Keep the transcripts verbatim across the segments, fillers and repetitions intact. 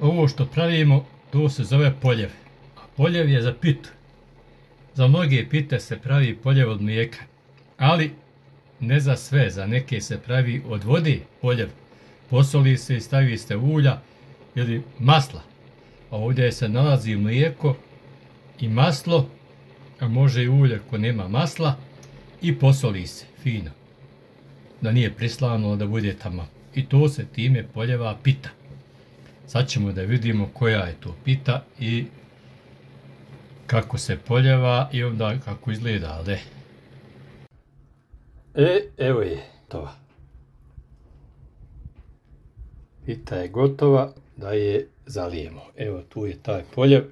Ovo što pravimo, to se zove poljev. A poljev je za pitu. Za mnoge pite se pravi poljev od mlijeka, ali ne za sve, za neke se pravi od vode poljev. Posoli se i stavi se ulja ili masla. A ovdje se nalazi mlijeko i maslo, a može i ulje ako nema masla, i posoli se fino. Da nije prislano, da bude tamo. I to se time poljeva pita. Sad ćemo da vidimo koja je to pita i kako se poljeva i onda kako izgleda, ali. E, evo je to. Pita je gotova, da je zalijemo. Evo tu je taj poljev.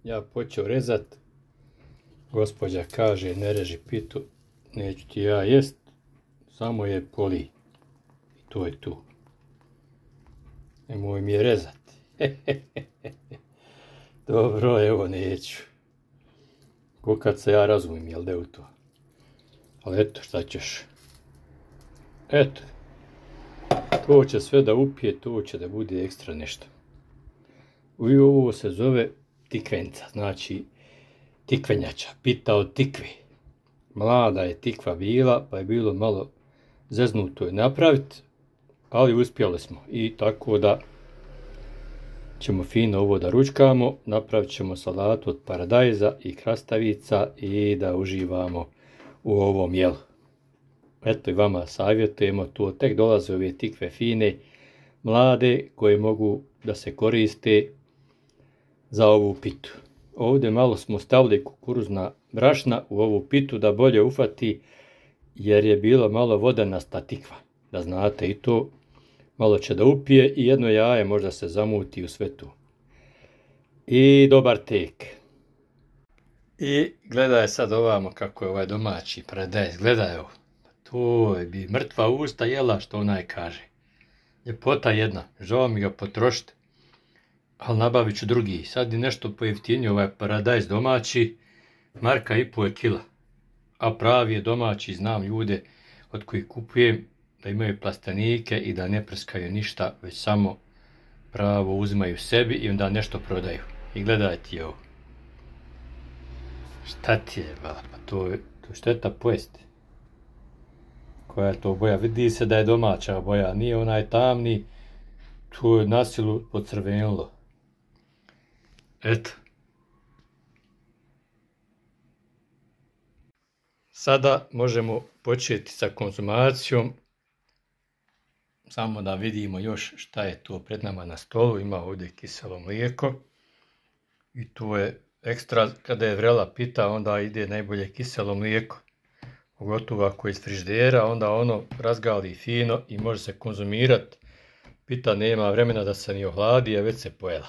Ja počeo rezat. Gospođa kaže ne reži pitu, neću ti ja jest, samo je poli. I to je tu. Nemoj mi je rezati. Dobro, evo neću. Ko kad se ja razumijem, jel da je u to? Ali eto, šta ćeš? Eto. To će sve da upije, to će da bude ekstra nešto. I ovo se zove tikvenca, znači tikvenjača, pita od tikve. Mlada je tikva bila, pa je bilo malo zeznuto je napraviti, ali uspjeli smo. I tako da ćemo fino ovo da ručkamo, napravit ćemo salatu od paradajza i krastavica i da uživamo u ovom jelu. Eto i vama savjetujemo, tu tek dolaze ove tikve fine, mlade, koje mogu da se koriste za ovu pitu. Ovdje malo smo stavili kukuruzna brašna u ovu pitu da bolje ufati, jer je bilo malo vodenasta tikva. Da znate i to, malo će da upije i jedno jaje možda se zamuti u sve tu. I dobar tek. I gledaj sad ovamo kako je ovaj domaći paradajz, gledaj ovo. To je bi mrtva usta jela, što onaj kaže. Ljepota jedna, žao mi ga potrošiti, ali nabavit ću drugi. Sad je nešto pojeftinio ovaj paradajz domaći, marka i po je kila. A pravi je domaći, znam ljude od kojih kupujem, da imaju plastenike i da ne prskaju ništa, već samo pravo uzimaju sebi i onda nešto prodaju. I gledaj ti ovo. Šta ti je, bala, pa to je to šteta pojesti. Koja je to boja? Vidi se da je domaća boja, nije onaj tamni, to je na silu pocrvenilo. Eto. Sada možemo početi sa konzumacijom. Samo da vidimo još šta je to pred nama na stolu. Ima ovdje kiselo mlijeko. I to je ekstra, kada je vrela pita, onda ide najbolje kiselo mlijeko. Pogotovo ako je iz frižidera, onda ono razgali fino i može se konzumirati. Pita nema vremena da se ni ohladi, a već se pojela.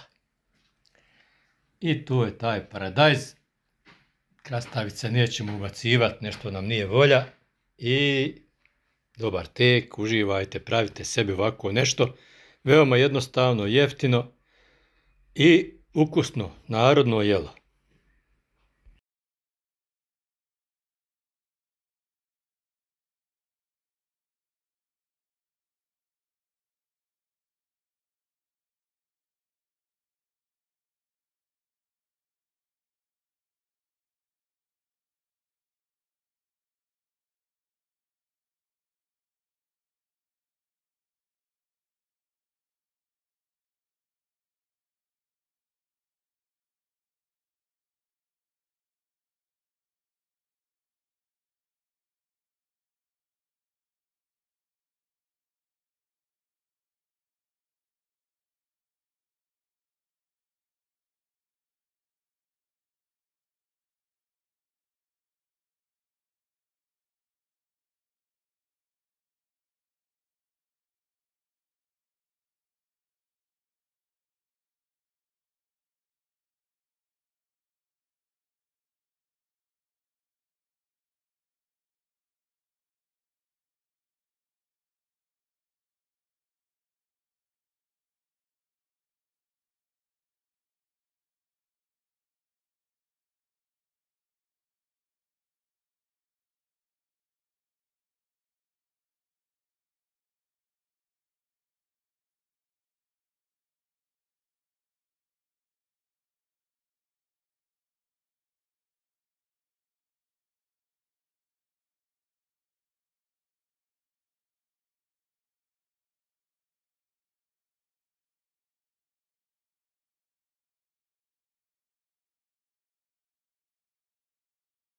I tu je taj paradajz. Krastavice nećemo ubacivati, nešto nam nije volja. I dobar tek, uživajte, pravite sebi ovako nešto. Veoma jednostavno, jeftino i ukusno, narodno jelo.